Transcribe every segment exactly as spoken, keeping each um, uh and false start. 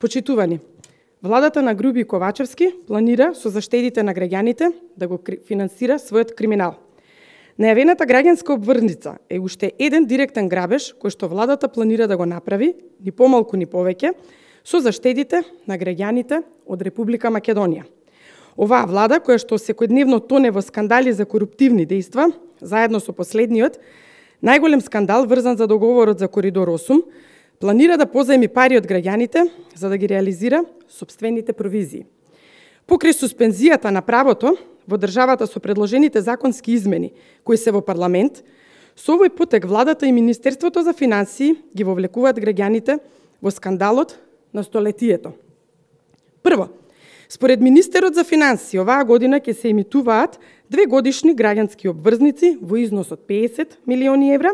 Почитувани, владата на Груби Ковачевски планира со заштедите на граѓаните да го финансира својот криминал. Најавената граѓанска обврзница е уште еден директен грабеж кој што владата планира да го направи, ни помалку ни повеќе, со заштедите на граѓаните од Република Македонија. Оваа влада, која што секојдневно тоне во скандали за коруптивни дејства, заедно со последниот, најголем скандал врзан за договорот за Коридор осум, планира да позајми пари од граѓаните за да ги реализира сопствените провизии. Покрај суспензијата на правото во државата со предложените законски измени кои се во парламент, со овој потек владата и Министерството за финансии ги вовлекуваат граѓаните во скандалот на столетието. Прво, според министерот за финансии, оваа година ќе се емитуваат две годишни граѓански обврзници во износ од песет милиони евра,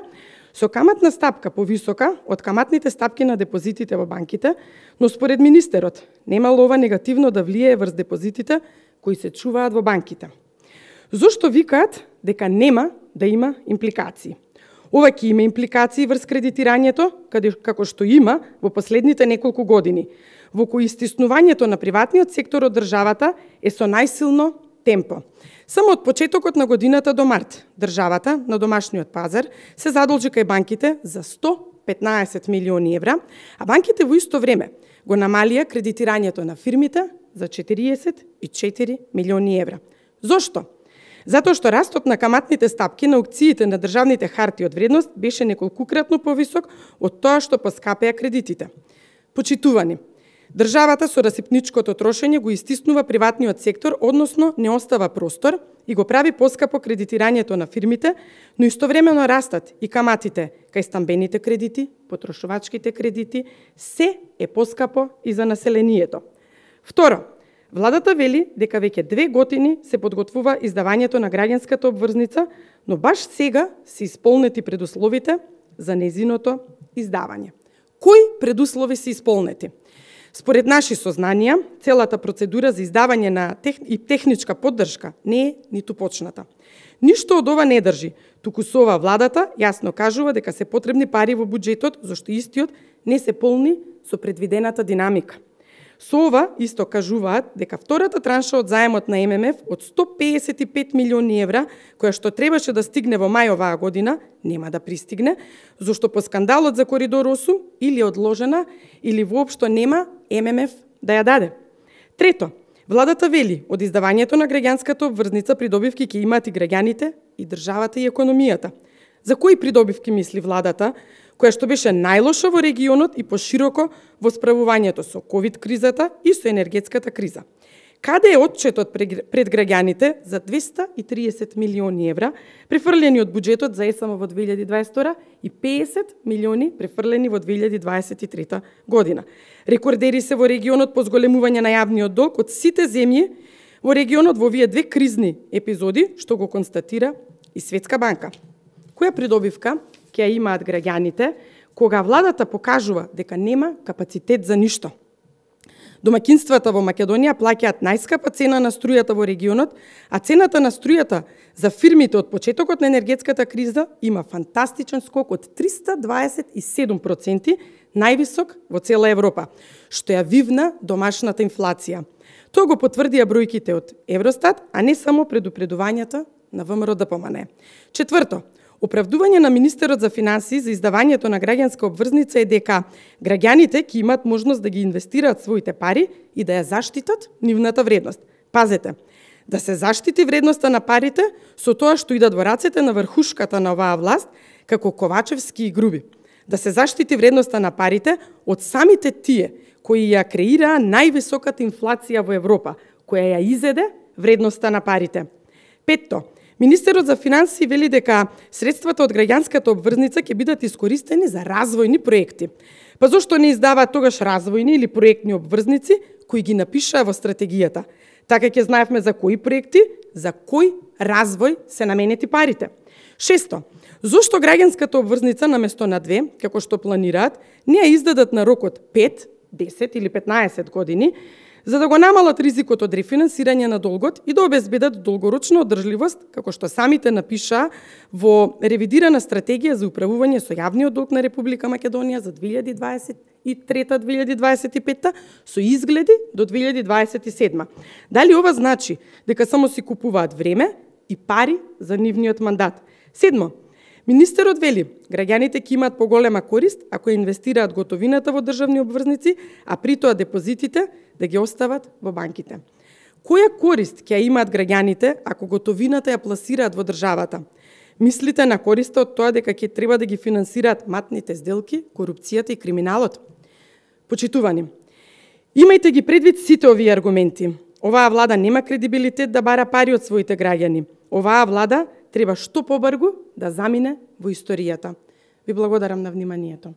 со каматна стапка повисока од каматните стапки на депозитите во банките, но според министерот немало ова негативно да влијае врз депозитите кои се чуваат во банките. Зошто викаат дека нема да има импликации? Ова ќе има импликации врз кредитирањето, каде како што има во последните неколку години, во кои стиснувањето на приватниот сектор од државата е со најсилно темпо. Само од почетокот на годината до март, државата на домашниот пазар се задолжи кај банките за сто петнаесет милиони евра, а банките во исто време го намалија кредитирањето на фирмите за четириесет и четири милиони евра. Зошто? Затоа што растот на каматните стапки на аукциите на државните харти од вредност беше неколкукратно повисок од тоа што поскапеа кредитите. Почитувани, државата со расипничкото трошење го истиснува приватниот сектор, односно не остава простор и го прави поскапо кредитирањето на фирмите, но истовремено растат и каматите кај стамбените кредити, потрошувачките кредити, се е поскапо и за населението. Второ, владата вели дека веќе две години се подготвува издавањето на граѓанската обврзница, но баш сега се исполнети предусловите за незиното издавање. Кои предуслови се исполнети? Според наши сознанија, целата процедура за издавање на тех... и техничка поддршка не е ниту почната. Ништо од ова не држи, туку со ова владата јасно кажува дека се потребни пари во буџетот, зашто истиот не се полни со предвидената динамика. Со ова исто кажуваат дека втората транша од заемот на Ем Ем Еф од сто песет и пет милиони евра, која што требаше да стигне во мај оваа година, нема да пристигне, зашто по скандалот за Коридор осум или одложена, или воопшто нема Ем Ем Еф да ја даде. Трето, владата вели од издавањето на граѓанската обврзница придобивки ќе имаат и граѓаните, и државата и економијата. За кои придобивки мисли владата, која што беше најлоша во регионот и пошироко во справувањето со ковид кризата и со енергетската криза? Каде е отчетот пред граѓаните за двесте и триесет милиони евра префрлени од буџетот за Ес Ем во две илјади дваесет и втора и песет милиони префрлени во две илјади дваесет и трета година? Рекордери се во регионот по зголемување на јавниот долг од сите земји во регионот во овие две кризни епизоди, што го констатира и Светска банка. Која придобивка ќе ја имаат граѓаните кога владата покажува дека нема капацитет за ништо? Домаќинствата во Македонија плаќаат најскапа цена на струјата во регионот, а цената на струјата за фирмите од почетокот на енергетската криза има фантастичен скок од триста дваесет и седум проценти, највисок во цела Европа, што ја вивна домашната инфлација. Тоа го потврдија бројките од Евростат, а не само предупредувањата на Вэ Ем Р Д П М Н. Четврто, оправдување на министерот за финансии за издавањето на граѓанска обврзница е дека граѓаните ќе имаат можност да ги инвестираат своите пари и да ја заштитат нивната вредност. Пазете, да се заштити вредноста на парите со тоа што идат во рацете на врхушката на оваа власт, како Ковачевски и Груби. Да се заштити вредноста на парите од самите тие кои ја креираа највисоката инфлација во Европа, која ја изеде вредноста на парите. Петто, министерот за финансии вели дека средствата од граѓанската обврзница ќе бидат искористени за развојни проекти. Па зошто не издаваат тогаш развојни или проектни обврзници кои ги напишаа во стратегијата? Така ќе знаевме за кои проекти, за кој развој се наменети парите. Шесто, зошто граѓанската обврзница наместо на две, како што планираат, не ја издадат на рок од пет, десет или петнаесет години, за да го намалат ризикот од рефинансирање на долгот и да обезбедат долгорочна одржливост, како што самите напишаа во ревидирана стратегија за управување со јавниот долг на Република Македонија за две илјади дваесет и трета две илјади дваесет и петта со изгледи до две илјади дваесет и седма. Дали ова значи дека само си купуваат време и пари за нивниот мандат? Седмо, министерот вели, граѓаните ќе имаат поголема корист ако инвестираат готовината во државни обврзници, а при тоа депозитите да ги остават во банките. Која корист ќе имаат граѓаните ако готовината ја пласираат во државата? Мислите на користа од тоа дека ќе треба да ги финансираат матните сделки, корупцијата и криминалот? Почитувани, имајте ги предвид сите овие аргументи. Оваа влада нема кредибилитет да бара пари од своите граѓани. Оваа влада треба што побрзо да замине во историјата. Ви благодарам на вниманието.